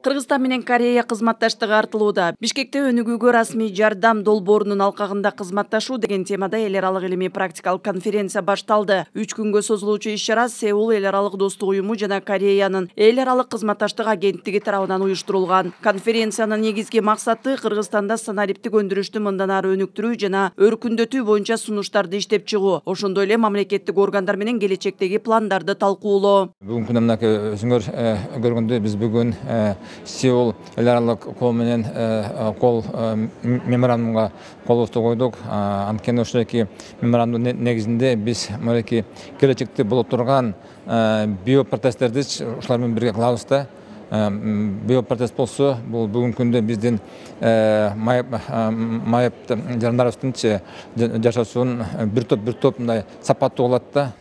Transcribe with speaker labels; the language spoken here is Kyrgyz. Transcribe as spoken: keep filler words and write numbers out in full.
Speaker 1: Кыргызстан менен Корея кызматташтыгы артылууда. Бишкекте өнүгүүгө расмий жардам долбоорунун алкагында кызматташуу деген темада эл аралык илимий практикалык конференция башталды. Үч күнгө созулуучу иш-чара Сеул эл аралык достук уюму жана Кореянын эл аралык кызматташтык агенттиги тарабынан уюштурулган. Конференциянын негизги максаты Кыргызстанда санариптик өндүрүштү мындан ары өнүктүрүү жана өркүндөтүү боюнча сунуштарды иштеп чыгуу. Ошондой эле мамлекеттик органдар менен келечектеги пландарды талкуулоо.
Speaker 2: Бүгүнкү күндө мынакей өзүңөр көргөндөй биз бүгүн Сеул эл аралык кол менен кол меморандумга колубузду койдук. Анткени ошоки меморандум негизинде биз мынакей келечекте боло турган биопротесттерди ушулар менен бирге кылабыз да. Биопротест болсо, бул бүгүнкү күндө биздин майып жарандарыбыздын жашоосун бир топ бир топ мындай сапаттуу болот да.